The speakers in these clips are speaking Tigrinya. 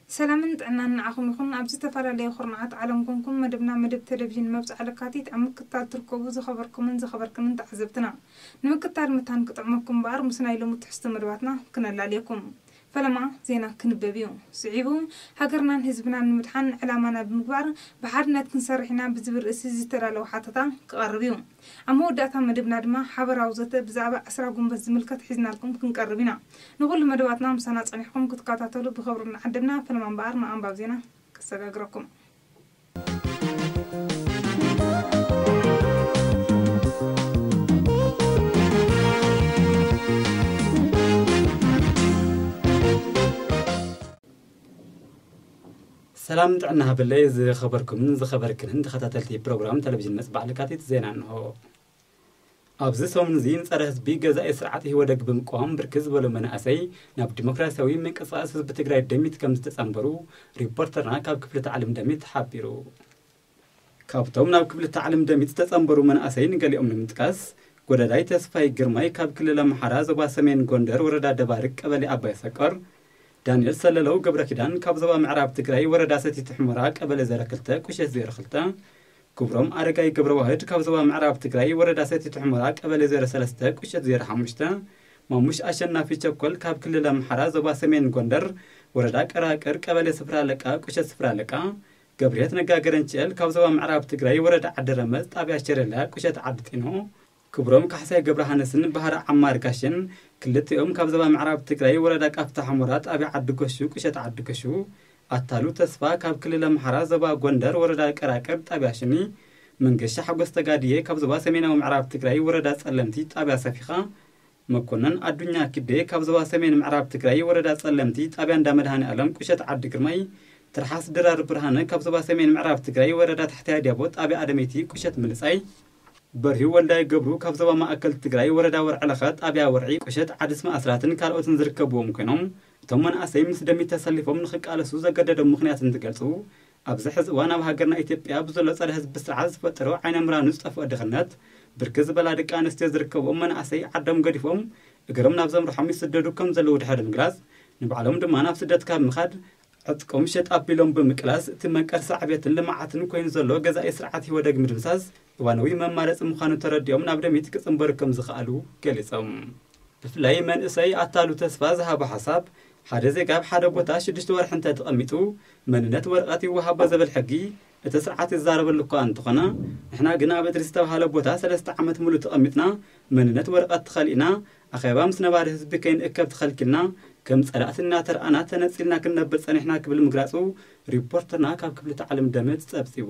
ሰላምን ጥዕናን ንዓኹም ይኹን። ኣብ ዝተፈላለየ ኩርናዓት ዓለም ኮንኩም መደብና፣ መደብ ቴሌቪዥን መብጽዓ ለካቲት ኣብ ምክትታል ትርከቡ ዝኸበርኩምን ዝኸበርክንን ተዓዘብትና፣ ንምክትታል መታን ክጥዕመኩም እምበኣር ምስ ናይ ሎሚ ትሕዝቶ መደባትና ክነላልየኩም። ፈለማ ዜና ክንበብ እዩ። ስዒቡ፣ ሃገርናን ህዝብናን ንምድሓን ዕላማና ብምግባር ብሓድነት ክንሰርሕ ኢና ብዝብል ርእሲ ዝተዳለወ ሓተታ ክቐርብ እዩ። ኣብ መወዳእታ መደብና ድማ ሓበራዊ ዘተ ብዛዕባ ዕስራ ጉንበት ዝምልከት ሒዝናልኩም ክንቀርብ ኢና። ንኹሉ መደባትና ምሳና ጸኒሕኩም ክትከታተሉ ብኽብሪ እናዓደምና፣ ፈለማ እምበኣር ንኣንባብ ዜና ከሰጋግረኩም። ሰላም ጥዕና ሃበለይ ዝኸበርኩምን ዝኸበርክንን ተኸታተልቲ ፕሮግራም ቴሌቪዥን መጽባዕ ለካቲት ዜና እንሆ። ኣብዚ ሰሙን እዚ ንጸረ ህዝቢ ገዛኢ ስርዓት ኢህወደግ ብምቅዋም ብርክት ዝበሉ መናእሰይ ናብ ዲሞክራሲያዊ ምንቅስቃስ ህዝቢ ትግራይ ደሚት ከም ዝተጸንበሩ ሪፖርተርና ካብ ክፍሊ ታዕሊም ደሚት ሓቢሩ። ካብቶም ናብ ክፍሊ ታዕሊም ደሚት ዝተጸንበሩ መናእሰይ ንገሊኦም ንምጥቃስ፣ ጎዳዳይ ተስፋይ ግርማይ ካብ ክልል ኣምሓራ ዞባ ሰሜን ጎንደር ወረዳ ደባርቅ ቀበሌ ኣባይ ሰቀር፣ ዳንኤል ሰለለው ገብረ ኪዳን ካብ ዞባ ምዕራብ ትግራይ ወረዳ ሰቲት ሑመራ ቀበሌ ዘረ ክልተ ቁሸት ዜሮ ክልተ፣ ክብሮም ኣረጋይ ገብረ ዋህድ ካብ ዞባ ምዕራብ ትግራይ ወረዳ ሰቲት ሑመራ ቀበሌ ዜሮ ሰለስተ ቁሸት ዜሮ ሓሙሽተ፣ ማሙሽ ኣሸናፊ ቸኮል ካብ ክልል ኣምሓራ ዞባ ሰሜን ጎንደር ወረዳ ቀራቅር ቀበሌ ስፍራ ለቃ ቁሸት ስፍራ ለቃ፣ ገብርሄት ነጋ ገረንችኤል ካብ ዞባ ምዕራብ ትግራይ ወረዳ ዓዲ ረመፅ ጣብያ ሸረላ ቁሸት ዓዲ ጢኖ፣ ክብሮም ካሕሳይ ገብረሃንስን ባህራ ዓማር ጋሽን ክልቲኦም ካብ ዞባ ምዕራብ ትግራይ ወረዳ ቃፍታ ሑመራ ጣብያ ዓዲ ገሹ ቁሸት ዓዲ ገሹ፣ ኣታሉ ተስፋ ካብ ክልል ኣምሓራ ዞባ ጎንደር ወረዳ ቀራቅር ጣብያ ሽኒ፣ መንገሻ ሓጎስ ተጋድዬ ካብ ዞባ ሰሜናዊ ምዕራብ ትግራይ ወረዳ ጸለምቲ ጣብያ ሰፊኻ፣ መኮነን ኣዱኛ ኪዴ ካብ ዞባ ሰሜን ምዕራብ ትግራይ ወረዳ ጸለምቲ ጣብያ እንዳ መድሃኔ ዓለም ቁሸት ዓዲ ግርማይ፣ ትርሓስ ድራር ብርሃነ ካብ ዞባ ሰሜን ምዕራብ ትግራይ ወረዳ ታሕታይ ኣድያቦ ጣብያ ኣደመይቲ ቁሸት ምልጻይ፣ በርሂ ወልዳይ ገብሩ ካብ ዞባ ማእከል ትግራይ ወረዳ ወርዕለኸ ጣብያ ወርዒ ቁሸት ዓዲ ስማ ኣስራትን ካልኦትን ዝርከብዎም ኮይኖም፣ እቶም መናእሰይ ምስ ደሚት ተሰሊፎም ንኽቃለሱ ዘገደዶም ምኽንያት እንትገልጹ፣ ኣብዚ ሕዚ እዋን ኣብ ሃገርና ኢትዮጵያ ብዘሎ ጸረ ህዝቢ ስርዓት ዝፈጠሮ ዓይነ ምራኑ ዝጠፍኦ ድኽነት፣ ብርክት ዝበላ ደቂ ኣንስትዮ ዝርከብዎም መናእሰይ ዓዶም ገዲፎም እግሮም ናብ ዘምርሖም ይስደዱ ከም ዘለዉ ድሕሪ ምግላጽ፣ ንባዕሎም ድማ ናብ ስደት ካብ ምኻድ ዕጥቆም ሸጥ ኣቢሎም ብምቅላስ እቲ መንቀርሳ ዕቤትን ልምዓትን ኮይኑ ዘሎ ገዛኢ ስርዓት ኢህወደግ ምድምሳስ እዋናዊ መማረፂ ምዃኑ ተረዲኦም ናብ ደሚት ክፅንበሩ ከም ዝኸኣሉ ገሊፆም። ብፍላይ መንእሰይ ኣታሉ ተስፋ ዝሃቦ ሓሳብ፣ ሓደ ዜጋ ኣብ ሓደ ቦታ ሽዱሽተ ወርሒ እንተ ተቐሚጡ መንነት ወረቐት ይወሃቦ ዝብል ሕጊ እቲ ስርዓት ይዛረበሉ እኳ እንተኾነ፣ ንሕና ግን ኣብ እድሪ ዝተባሃለ ቦታ ሰለስተ ዓመት ሙሉእ ተቐሚጥና መንነት ወረቐት ተኸሊእና ኣኼባ ምስ ነባሪ ህዝቢ ከይንእከብ ተኸልኪልና ከም ጸላእቲ እናተረኣና ተነጺልና ክንነብር ጸኒሕና ክብል ምግላጹ ሪፖርተርና ካብ ክፍሊ ታዕሊም ደምት ጸብጺቡ።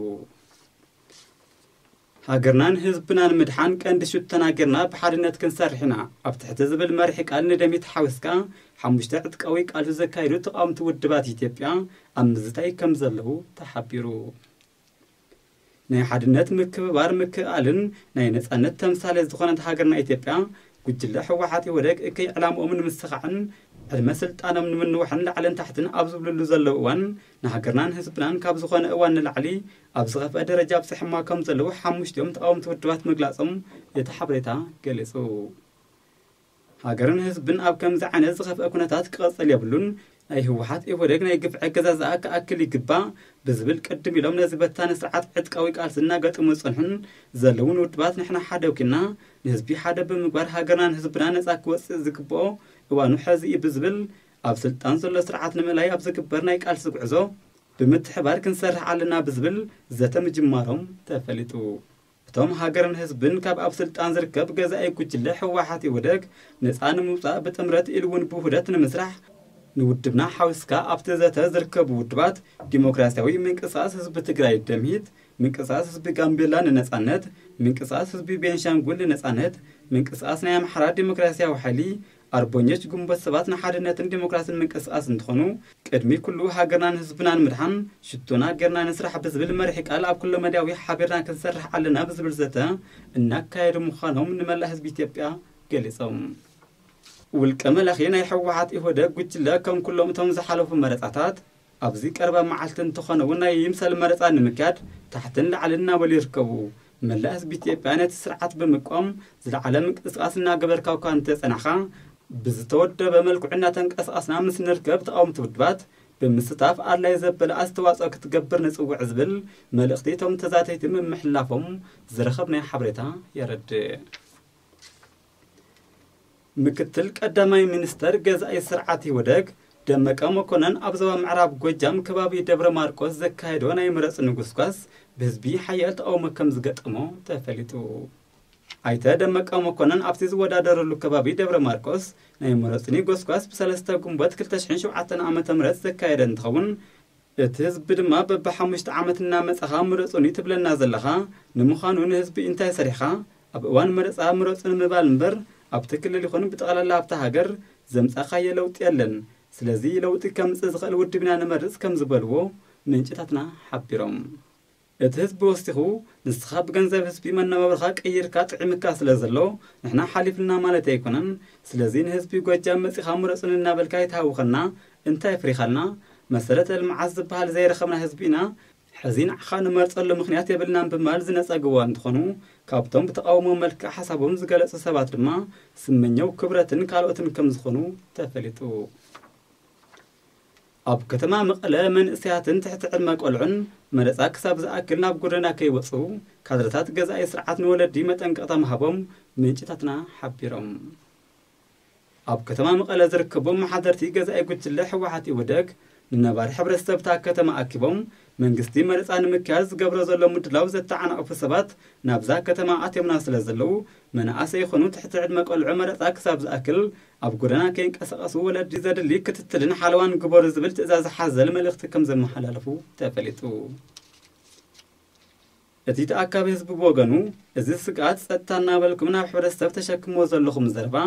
ሃገርናን ህዝብናን ምድሓን ቀንዲ ሽቶና ጌርና ብሓድነት ክንሰርሕ ኢና ኣብ ትሕቲ ዝብል መሪሕ ቃል ንደሚት ሓዊስካ ሓሙሽተ ዕጥቃዊ ቃልሲ ዘካየዱ ተቓወምቲ ውድባት ኢትዮጵያ ኣብ ምዝታይ ከም ዘለዉ ተሓቢሩ። ናይ ሓድነት ምክብባር ምክእኣልን ናይ ነጻነት ተምሳሌት ዝኾነት ሃገርና ኢትዮጵያ ጉጅለ ህወሓት ኢህወደግ እከይ ዕላምኦም ንምስኻዕን ዕድመ ስልጣኖም ንምንዋሕን ላዕልን ታሕትን ኣብ ዝብልሉ ዘለዉ እዋን ንሃገርናን ህዝብናን ካብ ዝኾነ እዋን ንላዕሊ ኣብ ዝኸፍአ ደረጃ ኣብፅሕማ ከም ዘለዉ ሓሙሽቲኦም ተቃወምቲ ውድባት ምግላፆም እቲ ሓበሬታ ገሊፁ። ሃገርን ህዝብን ኣብ ከምዚ ዓይነት ዝኸፍአ ኩነታት ክቐጽል የብሉን። ናይ ህወሓት ኢህወደግ ናይ ግፍዒ ኣገዛዝኣ ክኣክል ይግባእ ብዝብል ቅድም ኢሎም ነዚ በታኒ ስርዓት ዕጥቃዊ ቃልሲ እናገጠሙ ዝጸንሑን ዘለውን ውድባት ንሕና ሓደ ወኪልና ንህዝቢ ሓደ ብምግባር ሃገርናን ህዝብና ነጻ ክወጽእ ዝግብኦ እዋኑ ሐዚ እዩ ብዝብል ኣብ ስልጣን ዘሎ ስርዓት ንምእላይ ኣብ ዝግበር ናይ ቃልሲ ጉዕዞ ብምትሕባር ክንሰርሕ ኣለና ብዝብል ዘተ ምጅማሮም ተፈሊጡ። እቶም ሃገርን ህዝብን ካብ ኣብ ስልጣን ዝርከብ ገዛኢ ጉጅለ ህወሓት ኢህወደግ ነፃ ንምውፃእ ብጥምረት ኢሉ እውን ብውህደት ንምስራሕ ንውድብና ሓዊስካ ኣብቲ ዘተ ዝርከቡ ውድባት ዲሞክራሲያዊ ምንቅስቃስ ህዝቢ ትግራይ ደምሂት፣ ምንቅስቃስ ህዝቢ ጋምቤላ ንነጻነት፣ ምንቅስቃስ ህዝቢ ቤንሻንጉል ንነጻነት፣ ምንቅስቃስ ናይ ኣምሓራ ዲሞክራሲያዊ ሓይሊ፣ ኣርበኞች ግንቦት ሰባት ንሓድነትን ዲሞክራሲን ምንቅስቃስ እንትኾኑ፣ ቅድሚ ኩሉ ሃገርናን ህዝብናን ምድሓን ሽቶና ጌርና ንስራሕ ብዝብል መሪሕ ቃል ኣብ ኩለ መዳያዊ ሓቢርና ክንሰርሕ ኣለና ብዝብል ዘተ እናካየዱ ምዃኖም ንመላእ ህዝቢ ኢትዮጵያ ገሊጾም። ውልቀ መላኺ ናይ ህወሓት ኢህወደግ ጉጅለ ከም ኩሎም እቶም ዝሓለፉ መረጻታት ኣብዚ ቀረባ መዓልቲ እንተኾነ እውን ናይ ይምሰል መረጻ ንምክያድ ታሕትን ላዕልን እናበሉ ይርከቡ። መላእ ህዝቢ ኢትዮጵያ ነቲ ስርዓት ብምቋም ዝለዓለ ምንቅስቃስ እናገበርካ እኳ እንተጸናኻ፣ ብዝተወደበ መልክዑ እናተንቀሳቐስና ምስ ንርከብ ተቓወምቲ ውድባት ብምስታፍ ኣድላይ ዘበለ ኣስተዋጽኦ ክትገብር ንጽውዕ ዝብል መልእኽቲ እቶም ተዛተይቲ ምምሕልላፎም ዝረኸብናዮ ሓበሬታ የረድእ። ምክትል ቀዳማይ ሚኒስተር ገዛኢ ስርዓት ኢህወደግ ደመቀ መኮነን ኣብ ዞባ ምዕራብ ጎጃም ከባቢ ደብረ ማርቆስ ዘካየዶ ናይ ምረጽ ንጉስጓስ ብህዝቢ ሓያል ተቃውሞ ከም ዝገጠሞ ተፈሊጡ። ኣይተ ደመቀ መኮነን ኣብቲ ዝወዳደረሉ ከባቢ ደብረ ማርቆስ ናይ ምረጽኒ ጎስጓስ ብሰለስተ ግንቦት ክልተ ሽሕን ሸውዓተን ዓመተ ምህረት ዘካየደ እንትኸውን፣ እቲ ህዝቢ ድማ በብሓሙሽተ ዓመት እናመጻኻ ምረጹኒ ትብለና ዘለኻ፣ ንምዃኑ ንህዝቢ እንታይ ሰሪሕኻ? ኣብ እዋን መረጻ ምረጹኒ ምባል እምበር ኣብቲ ክልል ይኹን ብጠቕላላ ኣብታ ሃገር ዘምጻኻዮ ለውጢ የለን። ስለዚ ለውጢ ከምጽእ ዝኽእል ውድብ ኢና ንመርጽ ከም ዝበልዎ ምንጭታትና ሓቢሮም። እቲ ህዝቢ ወሲኹ፣ ንስኻ ብገንዘብ ህዝቢ መነባብርኻ ቀይርካ ጥዒምካ ስለ ዘሎ ንሕና ሓሊፍና ማለት ኣይኮነን። ስለዚ ንህዝቢ ጎጃም መጺኻ ምረጹኒ እናበልካ ኣይትሃውኸና። እንታይ ኣፍሪኻልና? መሰረተ ልምዓት ዝበሃል ዘይረኸብና ህዝቢ ኢና። ሕዚ ንዓኻ ንመርጸሉ ምኽንያት የብልናን ብምባል ዝነጸግዎ እንትኾኑ፣ ካብቶም ብተቓውሞ መልክዕ ሓሳቦም ዝገለጹ ሰባት ድማ ስመኘው ክብረትን ካልኦትን ከም ዝኾኑ ተፈሊጡ። ኣብ ከተማ መቐለ መንእሰያትን ትሕቲ ዕድመ ቆልዑን መረጻ ክሳብ ዝኣክል ናብ ጎደና ከይወጹ ካድረታት ገዛኢ ስርዓት ንወለዲ መጠንቀቕታ ምሃቦም ምንጭታትና ሓቢሮም። ኣብ ከተማ መቐለ ዝርከቡ መሓደርቲ ገዛኢ ጉጅለ ህወሓት ኢህወደግ ንነባሪ ሕብረተሰብ እታ ከተማ ኣኪቦም መንግስቲ መረጻ ንምክያድ ዝገብሮ ዘሎ ምድላው ዘተዓናቕፉ ሰባት ናብዛ ከተማ ኣትዮምና ስለ ዘለዉ መናእሰይ ይኹኑ ትሕቲ ዕድመ ቆልዑ መረጻ ክሳብ ዝኣክል ኣብ ጎደና ከይንቀሳቐሱ ወለዲ ዘድሊ ክትትልን ሓለዋን ግበሩ ዝብል ትእዛዝ ሓዘል መልእኽቲ ከም ዘመሓላለፉ ተፈሊጡ። እቲ ተኣካቢ ህዝቢ ብወገኑ፣ እዚ ስግኣት ጸጥታ እናበልኩም ናብ ሕብረተሰብ ተሸክምዎ ዘለኹም ዘረባ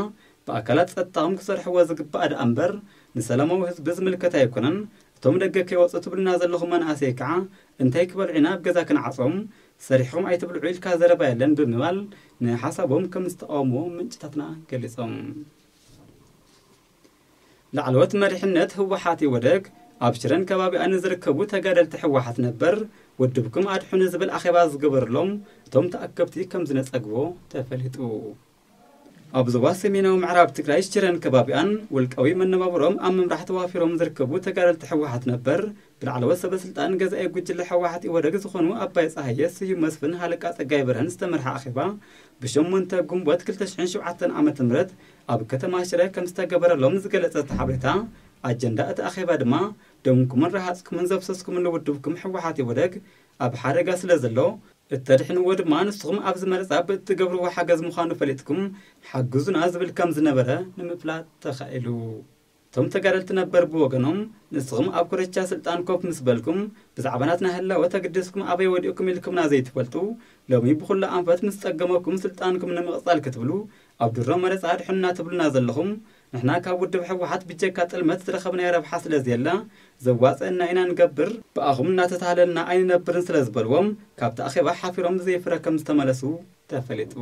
ብኣካላት ጸጥታኹም ክሰርሕዎ ዝግባእ ደኣ እምበር ንሰላማዊ ህዝቢ ዝምልከት ኣይኮነን። እቶም ደገ ከይወጹ ትብሉና ዘለኹም መናእሰይ ከዓ እንታይ ክበልዑ ኢና ኣብ ገዛ ክንዓጾም? ሰሪሕኹም ኣይትብልዑ ኢልካ ዘረባ የለን ብምባል ንሓሳቦም ከም ዝተቃወምዎ ምንጭታትና ገሊጾም። ላዕለዎት መሪሕነት ህወሓት ኢህወደግ ኣብ ሽረን ከባቢኣን ንዝርከቡ ተጋደልቲ ህወሓት ነበር ውድብኩም ኣድሕኑ ዝብል ኣኼባ ዝገበርሎም እቶም ተኣከብቲ ከም ዝነጸግዎ ተፈሊጡ። ኣብ ዞባ ሰሜናዊ ምዕራብ ትግራይ ሽረን ከባቢኣን ውልቃዊ መነባብሮም ኣብ ምምራሕ ተዋፊሮም ዝርከቡ ተጋደልቲ ህወሓት ነበር ብላዕለዎት ሰበ ስልጣን ገዛኢ ጉጅለ ህወሓት ኢህወደግ ዝኾኑ ኣባይ ፀሃየ፣ ስዩም መስፍን፣ ሃለቃ ፀጋይ በርሀን ዝተመርሐ ኣኼባ ብሸሞንተ ግንቦት ክልተ ሽሕን ሸውዓተን ዓመተ ምህረት ኣብ ከተማ ሽረ ከም ዝተገበረሎም ዝገለጸ እቲ ሓበሬታ፣ ኣጀንዳ እቲ ኣኼባ ድማ ደምኩምን ረሃጽኩምን ዘፍሰስኩምሉ ውድብኩም ህወሓት ኢህወደግ ኣብ ሓደጋ ስለ ዘሎ፣ እተድሕንዎ ድማ ንስኹም ኣብዚ መረጻ ብእትገብርዎ ሓገዝ ምዃኑ ፈሊጥኩም ሓግዙና ዝብል ከም ዝነበረ ንምፍላጥ ተኻኢሉ። እቶም ተጋደልቲ ነበር ብወገኖም፣ ንስኹም ኣብ ኮረቻ ስልጣን ኮፍ ምስ በልኩም፣ ብዛዕባ ናትና ህላወ ተገዲስኩም ኣበይ ወዲቕኩም ኢልኩምና ዘይትፈልጡ፣ ሎሚ ብኹሉ ኣንፈት ምስ ጸገመኩም ስልጣንኩም ንምቕጻል ክትብሉ ኣብ ድሮ መረጻ ኣድሕኑና ትብሉና ዘለኹም፣ ንሕና ካብ ውድብ ህወሓት ብጀካ ጥልመት ዝረኸብናዮ ረብሓ ስለ ዘየለ፣ ዘዋጽአና ኢና ንገብር፣ ብኣኹም እናተታለልና ኣይንነብርን ስለ ዝበልዎም፣ ካብቲ ኣኼባ ሓፊሮም ብዘይፍረ ከም ዝተመለሱ ተፈሊጡ።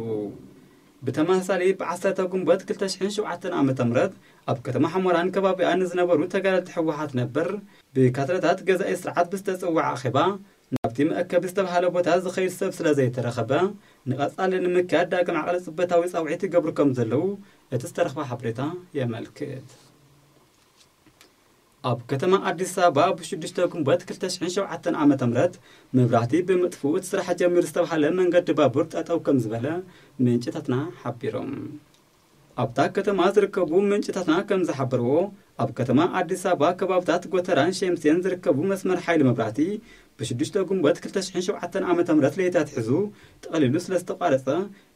ብተመሳሳሊ፣ ብዓሰርተ ግንቦት ክልተ ሽሕን ሸውዓተን ዓመተ ምህረት ኣብ ከተማ ሑመራን ከባቢኣን ንዝነበሩ ተጋደልቲ ህወሓት ነበር ብካድረታት ገዛኢ ስርዓት ብዝተጸውዐ ኣኼባ፣ ናብቲ መእከቢ ዝተባህለ ቦታ ዝኸይድ ሰብ ስለ ዘይተረኸበ፣ ንቐጻሊ ንምክያድ ዳግም ዓቕሊ ጽበታዊ ጻውዒት ይገብሩ ከም ዘለዉ እቲ ዝተረኽበ ሓበሬታ የመልክት። ኣብ ከተማ ኣዲስ ኣበባ ብሽዱሽተ ግንቦት ክልተ ሽሕን ሸውዓተን ዓመተ ምህረት መብራህቲ ብምጥፍኡ እቲ ስራሕ ጀሚሩ ዝተባህለ መንገዲ ባቡር ጠጠው ከም ዝበለ ምንጭታትና ሓቢሮም። ኣብታ ከተማ ዝርከቡ ምንጭታትና ከም ዝሓበርዎ፣ ኣብ ከተማ ኣዲስ ኣበባ ከባብታት ጎተራን ሸምሴን ዝርከቡ መስመር ሓይሊ መብራህቲ ብሽዱሽተ ግንቦት ክልተ ሽሕን ሸውዓተን ዓመተ ምህረት ለይቲ ኣትሒዙ ጠቕሊሉ ስለ ዝተቋረጸ፣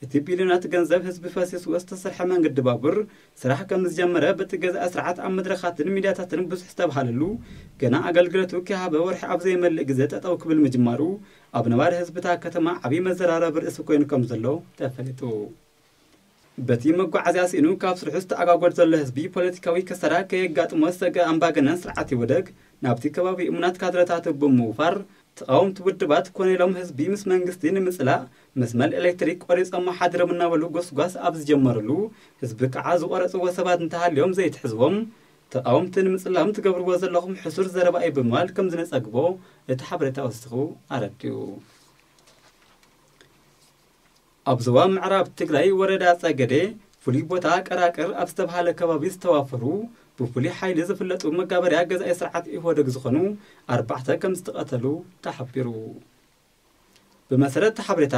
እቲ ቢልዮናት ገንዘብ ህዝቢ ፈሲስዎ ዝተሰርሐ መንገዲ ባቡር ስራሕ ከም ዝጀመረ በቲ ገዛኢ ስርዓት ኣብ መድረኻትን ሚድያታትን ብዙሕ ዝተብሃለሉ፣ ገና ኣገልግሎቱ ከይሃበ ወርሒ ኣብ ዘይመልእ ግዜ ጠጠው ክብል ምጅማሩ ኣብ ነባሪ ህዝቢ እታ ከተማ ዓብዪ መዘራረቢ ርእሲ ኮይኑ ከም ዘሎ ተፈሊጡ። በቲ መጓዓዝያ ስኢኑ ካብ ስርሑ ዝተኣጓጎል ዘሎ ህዝቢ ፖለቲካዊ ከሰራ ከየጋጥሞ ዝሰግአ ኣምባገነን ስርዓት ይወደግ ናብቲ ከባቢ እሙናት ካድረታቱ ብምውፋር ተቓወምቲ ውድባት ኮነ ኢሎም ህዝቢ ምስ መንግስቲ ንምጽላእ መስመር ኤሌክትሪክ ቆሪጾሞ ሓዲሮም እናበሉ ጎስጓስ ኣብ ዝጀመርሉ ህዝቢ ከዓ ዝቆረጽዎ ሰባት እንተሃልዮም ዘይትሕዝዎም ተቓወምቲ ንምጽላም ትገብርዎ ዘለኹም ሕሱር ዘረባ እዩ ብምባል ከም ዝነጸግቦ እቲ ሓበሬታ ወሲኹ ኣረዲኡ። ኣብ ዞባ ምዕራብ ትግራይ ወረዳ ጸገዴ ፍሉይ ቦታ ቀራቅር ኣብ ዝተባሃለ ከባቢ ዝተዋፈሩ ብፍሉይ ሓይሊ ዝፍለጡ መጋበርያ ገዛኢ ስርዓት ኢህወደግ ዝኾኑ ኣርባዕተ ከም ዝተቐተሉ ተሓቢሩ። ብመሰረት እቲ ሓበሬታ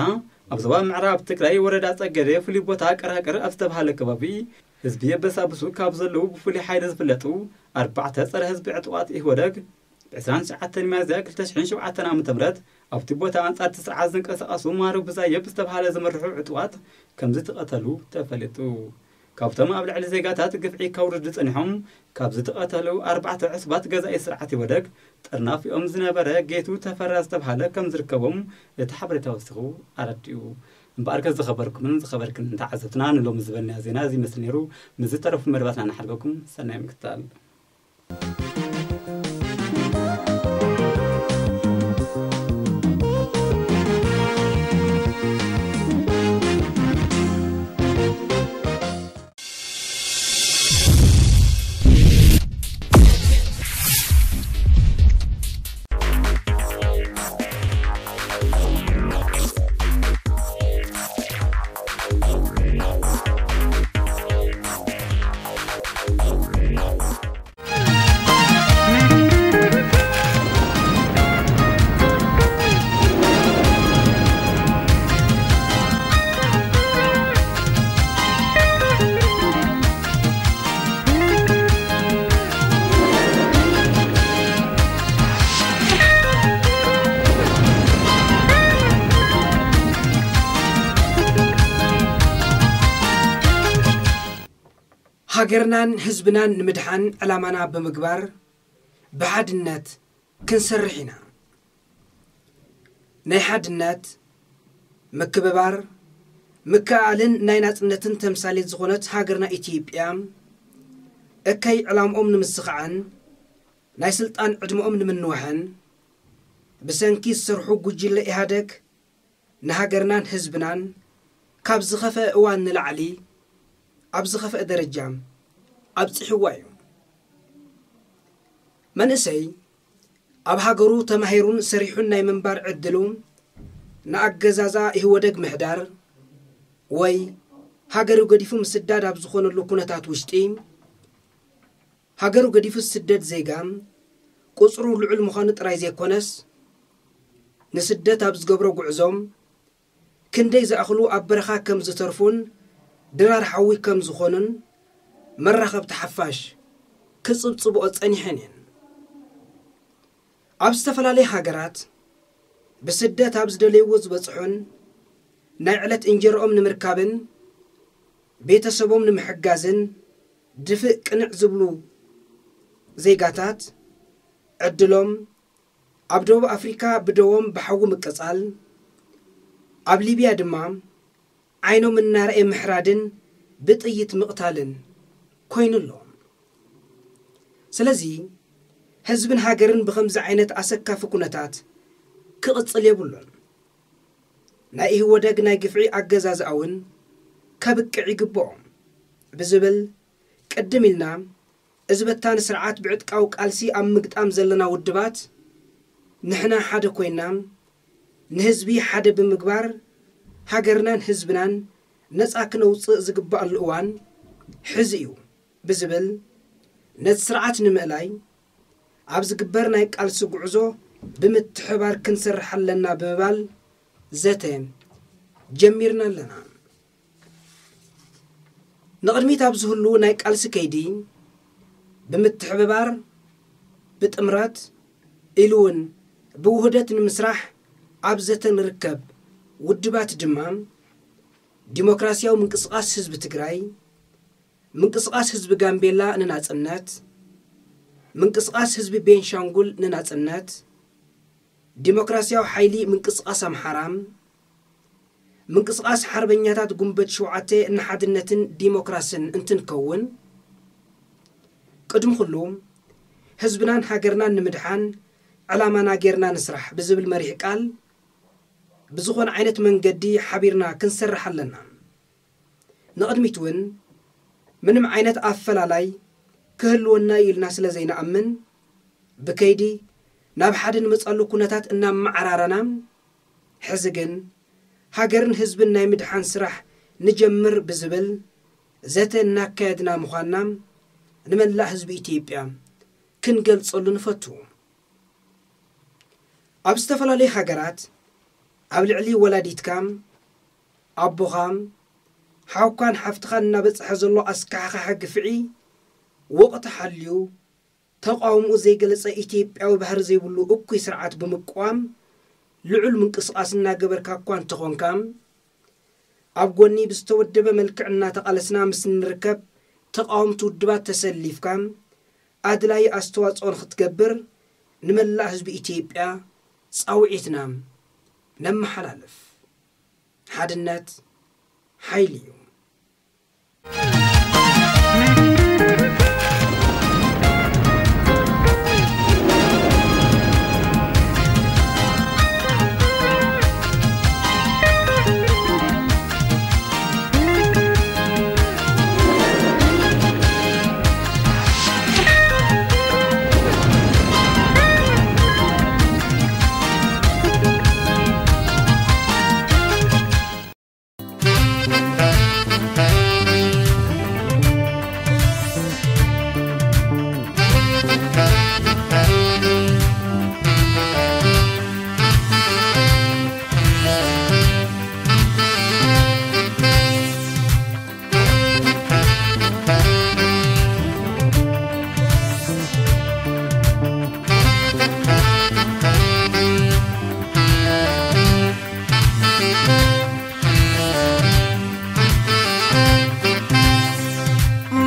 ኣብ ዞባ ምዕራብ ትግራይ ወረዳ ጸገዴ ፍሉይ ቦታ ቀራቅር ኣብ ዝተባሃለ ከባቢ ህዝቢ የበሳብሱ ካብ ዘለዉ ብፍሉይ ሓይሊ ዝፍለጡ ኣርባዕተ ጸረ ህዝቢ ዕጡቓት ኢህወደግ ብ ዕስራን ትሽዓተን ሚያዝያ ክልተ ሽሕን ሸውዓተን ዓመተ ምህረት ኣብቲ ቦታ ኣንጻር እቲ ስርዓት ዝንቀሳቐሱ ማሩ ብዛየብ ዝተባሃለ ዝምርሑ ዕጡቓት ከም ዝተቐተሉ ተፈሊጡ። ካብቶም ኣብ ልዕሊ ዜጋታት ግፍዒ ከውርዱ ጸኒሖም ካብ ዝተቐተሉ ኣርባዕተ ዕሱባት ገዛኢ ስርዓት ኢህወደግ ጥርናፊኦም ዝነበረ ጌቱ ተፈራ ዝተባሃለ ከም ዝርከቦም እቲ ሓበሬታ ወሲኹ ኣረዲኡ። እምበኣርከ ዝኸበርኩምን ዝኸበርክን ተዓዘብትና ንሎሚ ዝበልናዮ ዜና እዚ ይመስል ነይሩ። ምስ ዝተረፉ መደባትና ንሓልፈኩም። ሰናይ ምክትታል። ሃገርናን ህዝብናን ንምድሓን ዕላማና ብምግባር ብሓድነት ክንሰርሕ ኢና። ናይ ሓድነት፣ ምክብባር፣ ምክእኣልን ናይ ናጽነትን ተምሳሌት ዝኾነት ሃገርና ኢትዮጵያ እከይ ዕላምኦም ንምስኻዕን ናይ ስልጣን ዕድመኦም ንምንዋሕን ብሰንኪ ዝሰርሑ ጉጅለ ኢህኣደግ ንሃገርናን ህዝብናን ካብ ዝኸፍአ እዋን ንላዕሊ ኣብ ዝኸፍአ ደረጃ ኣብጺሕዋ እዩ። መንእሰይ ኣብ ሃገሩ ተማሂሩን ሰሪሑን ናይ ምንባር ዕድሉ ንኣገዛዛ ኢህወደግ ምሕዳር ወይ ሃገሩ ገዲፉ ምስዳድ ኣብ ዝኾነሉ ኩነታት ውሽጢ ሃገሩ ገዲፉ ዝስደድ ዜጋ ቁጽሩ ልዑል ምዃኑ ጥራይ ዘይኮነስ ንስደት ኣብ ዝገብሮ ጉዕዞ ክንደይ ዝኣኽሉ ኣብ በረኻ ከም ዝተርፉን ድራር ሓዊ ከም ዝኾኑን መራኸብቲ ሓፋሽ ክጽብጽብኦ ጸኒሐን እየን። ኣብ ዝተፈላለያ ሃገራት ብስደት ኣብ ዝደለይዎ ዝበጽሑን ናይ ዕለት እንጀርኦም ንምርካብን ቤተሰቦም ንምሕጋዝን ድፍእ ቅንዕ ዝብሉ ዜጋታት ዕድሎም ኣብ ደቡብ ኣፍሪካ ብደዎም ብሓዊ ምቅጻል፣ ኣብ ሊብያ ድማ ዓይኖም እናረኣየ ምሕራድን ብጥይት ምቕታልን ኮይኑ ኣሎ። ስለዚ ህዝብን ሃገርን ብኸምዚ ዓይነት ኣሰካፊ ኩነታት ክቕጽል የብሉን። ናይ ኢህወደግ ናይ ግፍዒ ኣገዛዝኣ እውን ከብቅዕ ይግብኦ ብዝብል ቅድም ኢልና እዚ በታኒ ስርዓት ብዕጥቃዊ ቃልሲ ኣብ ምግጣም ዘለና ውድባት ንሕና ሓደ ኮይና ንህዝቢ ሓደ ብምግባር ሃገርናን ህዝብናን ነጻ ክነውጽእ ዝግባኣሉ እዋን ሕዚ እዩ ብዝብል ነቲ ስርዓት ንምእላይ ኣብ ዝግበር ናይ ቃልሲ ጉዕዞ ብምትሕባር ክንሰርሕ ኣለና ብምባል ዘተ ጀሚርና ኣለና። ንቕድሚት ኣብ ዝህሉ ናይ ቃልሲ ከይዲ ብምትሕብባር ብጥምረት ኢሉ እውን ብውህደት ንምስራሕ ኣብ ዘተ ንርከብ ውድባት ድማ ዲሞክራሲያዊ ምንቅስቓስ ህዝቢ ትግራይ፣ ምንቅስቓስ ህዝቢ ጋምቤላ ንናፅነት፣ ምንቅስቓስ ህዝቢ ቤንሻንጉል ንናፅነት፣ ዲሞክራሲያዊ ሓይሊ ምንቅስቓስ ኣምሓራ፣ ምንቅስቓስ ሓርበኛታት ጉንበት ሸውዓተ ንሓድነትን ዲሞክራስን እንትንከውን፣ ቅድሚ ኩሉ ህዝብናን ሃገርናን ንምድሓን ዕላማና ጌርና ንስራሕ ብዝብል መሪሕ ቃል፣ ብዝኾነ ዓይነት መንገዲ ሓቢርና ክንሰርሕ ኣለና። ንቕድሚት እውን ምንም ዓይነት ኣፈላላይ ክህልወና እዩ ኢልና ስለ ዘይንኣምን፣ ብከይዲ ናብ ሓደ ንመጻሉ ኩነታት እናመዓራረና፣ ሕዚ ግን ሃገርን ህዝብን ናይ ምድሓን ስራሕ ንጀምር ብዝብል ዘተ እናካየድና ምዃንና ንመላእ ህዝቢ ኢትዮጵያ ክንገልጸሉ ንፈቱ። ኣብ ዝተፈላለዩ ሃገራት ኣብ ልዕሊ ወላዲትካ፣ ኣቦኻ፣ ሓውካን ሓፍትኻን እናበጽሐ ዘሎ ኣስካሕካሒ ግፍዒ ወቕቲ ሓልዩ ተቓውምኡ ዘይገለጸ ኢትዮጵያዊ ባህሪ ዘይብሉ እኩይ ስርዓት ብምቅዋም ልዑል ምንቅስቓስ እናገበርካ እኳ እንተኾንካ፣ ኣብ ጎኒ ብዝተወደበ መልክዕ እናተቓለስና ምስ እንርከብ ተቓወምቲ ውድባት ተሰሊፍካ ኣድላዪ ኣስተዋጽኦ ንኽትገብር ንመላእ ህዝቢ ኢትዮጵያ ጻውዒትና ነመሓላልፍ። ሓድነት ሓይሊ እዩ።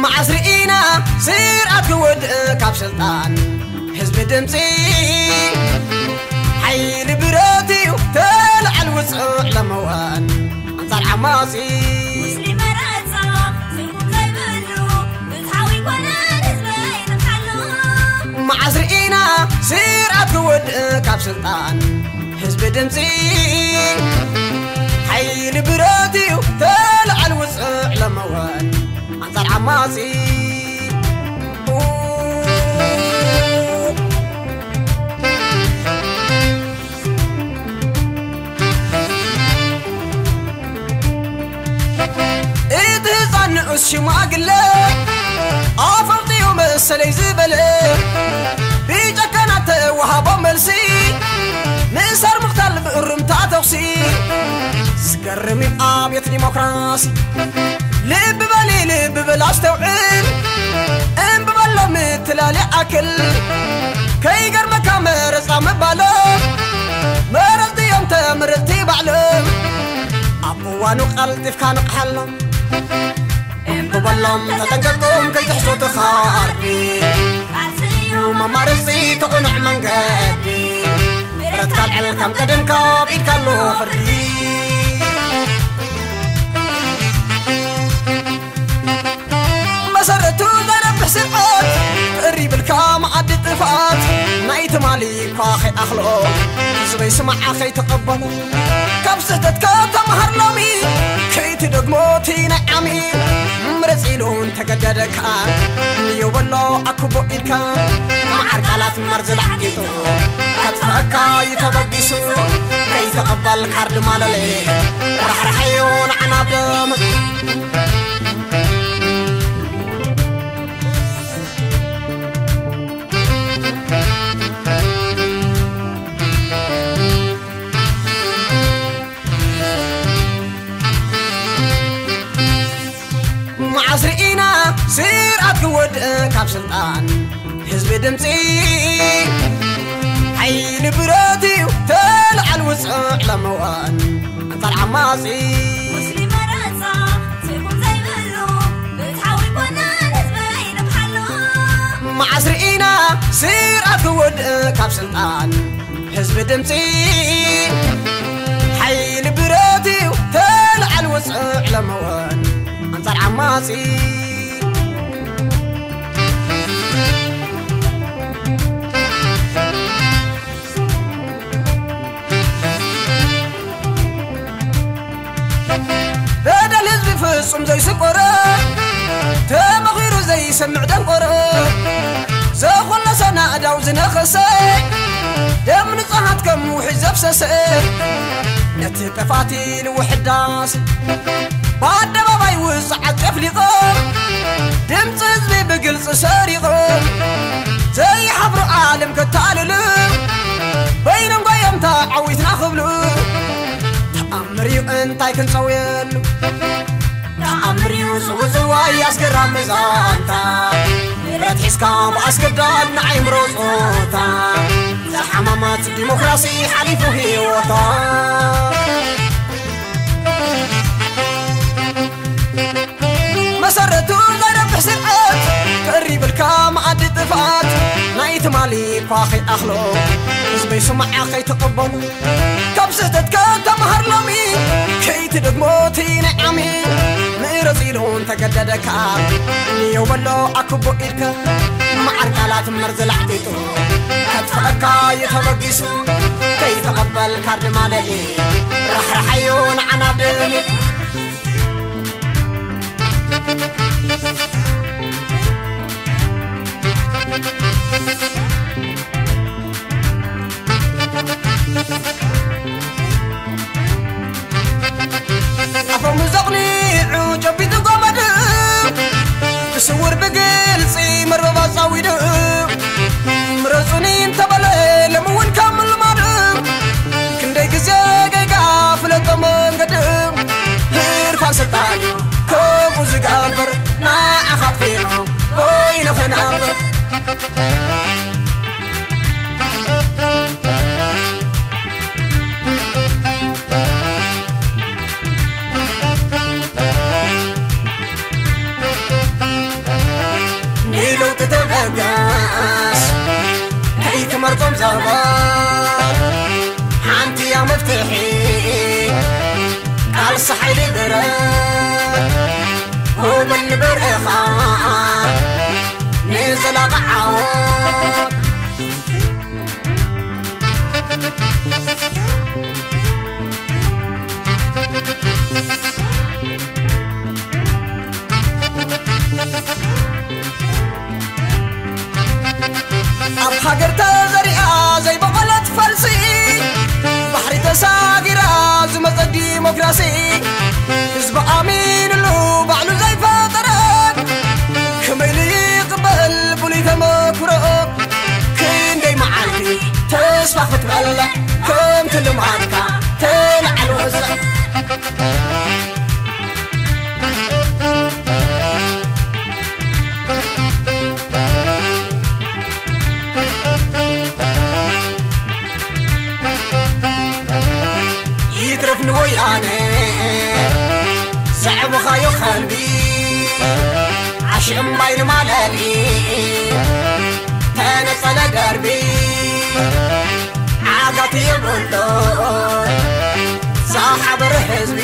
መዓስ ርኢና ስርዓት ክወድእ ካብ ስልጣን ህዝቢ ድምፂ ሓይሊ ብረት እዩ ተላዓል ውፅዕ ለመዋን ኣንፃር ዓማፂ ሙስሊም መረፃ ስጉም ዘይብሉ ፍትሓዊ ኮነን ህዝበይ ንብሓሉ መዓስ ርኢና ስርዓት ክወድእ ካብ ስልጣን ህዝቢ ድምፂ ሓይሊ ብረት እዩ ተላዓል ውፅዕ ለመወን ኣንፃር ዓማፂ እቲ ህፃን ንኡስ ሽማግለ ኣፈውጢኡ መሰለይ ዝበለ ብጨከናት ተወሃቦ መልሲ ምእሳር ምቕታል ብእሩምታ ተኹሲ ዝገርም እዩ ኣብየት ዲሞክራሲ ልቢ በሊ ልቢ በል ኣስተውዕል እምቢ በሎ ምትላል ይኣክል ከይገርመካ መረፃ ምባሎ መረፅቲ እዮም ተመረፅቲ ባዕሎም ኣብ እዋኑ ቀልጢፍካ ንቕሓሎም እምቢ በሎም ተጠንቀቆም ከይትሕዞ ትኻርዲ ቃልሲ እዩ መማረፂ ተቑኑዕ መንገዲ ምሕረት ካልዕል ከም ቀደም ካብ ኢድካ ኣሎ ፍርዲ መሰረቱ ዘረብሕ ስርዓት ቅሪ ብልካ መዓዲ ጥፍኣት ናይ ትማሊ እኳ ከይኣኽሎ ህዝበይ ስማዓ ከይተቐበሎ ካብ ስህተትካ ተምሃር ሎሚ ከይትደግሞ እቲ ናይ ዓሚ ምረፅ ኢሉ እንተገደደካ ንዮ በሎ ኣክቦ ኢልካ መዓር ቃላት መርዚ ላዕቂጡ ከጥፍኣካ እዩ ተበጊሱ ከይተቐበል ካርድ ማለለ ራሕራሐዮ ንዓና ብደም መዓስ ርኢና ስርዓት ክወድእ ካብ ስልጣን ህዝቢ ድምፂ ሓይሊ ብረት እዩ ተልዓል ውፅዕ ለመዋን ኣንፃር ዓማፂ ሙስሊም መረፃ ትርጉም ዘይብሉ ብትሓዊ ኮነን ህዝበይ ንብሓሉ መዓስ ርኢና ስርዓት ክወድእ ካብ ስልጣን ህዝቢ ድምፂ ሓይሊ ብረት እዩ፣ ተልዓል ውፅዕ ለመወን ኣንፃር ዓማፂ። በደል ህዝቢ ፍጹም ዘይስቆረ፣ ተመኺሩ ዘይሰምዕ ደንቆረ፣ ዘኾለሰ ናእዳው ዝነኸሰ፣ ደም ንጹሃት ከም ውሒ ዘፍሰሰ፣ ነቲ ጠፋቲ ንውሕዳስ ብኣደባባይ ውጽዓት ጨፍሊቐ፣ ድምፂ ህዝቢ ብግልፂ ሰሪቐ፣ ዘይሓፍሩ ዓለም ከታልሉ፣ በይኖም ጓዮም ተዓዊትና ክብሉ፣ ተኣምር እዩ እንታይ ክንጸውየሉ? ተኣምር እዩ ዝውዝዋይ ኣስገራሚ ዛንታ፣ ንብረት ሒዝካ ብኣስገዳድ ንኣይምሮ ጾታ፣ ዝሓመመት ዲሞክራሲ ሓሊፉ ህይወታ። መሰረቱ ዘይረብሕ ስርዓት፣ ቀሪብልካ መኣዲ ጥፍኣት፣ ናይ ትማሊ እኳ ከይኣኽሎ፣ ህዝበይ ስማዓ ከይትቕበሎ፣ ካብ ስህተትካ ተምሃር ሎሚ፣ ከይትደግሞ እቲ ናይ ዓሚ። ምረጽ ኢሉ እንተገደደካ፣ ንየው በሎ ኣክቦ ኢድካ፣ መዓር ቃላት መርዚ ላሕጢጡ፣ ከጥፍኣካ እዩ ተበጊሱ። ከይተቐበል ካርድ ማለሊ፣ ራሕራሓዮ ንዓና ደሊ። ኣፎም ዘቕኒዑ ጨቢጡ ገመድ፣ ብስውር ብግልጺ መርበብ ኣጻዊዱ። ምረጹኒ እንተበለ ሎሚ እውን ከም ልማዱ፣ ክንደይ ግዜ ጌጋ ፍለጦ መንገዱ። ህርፋን ስልጣን እዩ ከምኡ ዝገብር፣ ንዓኻ ኣጥፊኡ ኮይኑ ክነብር። ንለውጢ ተበገስ ከይትመርጾም ዘበት፣ ሓንቲ እያ መፍትሒ ቃልሲ ሓይሊ ብረት፣ ውበል ንበርዕኻ ንዘላቂ ዓወት። ኣብ ሃገር ተዘሪኣ ዘይበቐለት ፈልሲ፣ ባሕሪ ተሳጊራ ዝመጸት ዲሞክራሲ፣ ህዝቢ ኣሚንሉ ባዕሉ ዘይፈጠረት፣ ከመይ ኢሉ ይቕበል ብሉይ ተመክሮ? ክንደይ መዓልቲ ተስፋ ክትበልዕ፣ ከምቲ ልምዓትካ ተልዓል ወዘ። ይትረፍ ንወያነ ዘዕበኻዮ ከልቢ፣ ዓሽ እምባይ ንማለሊ ተነጸለ ደርቢ፣ ዓጋቲ የብሎ ዝሓበረ ህዝቢ።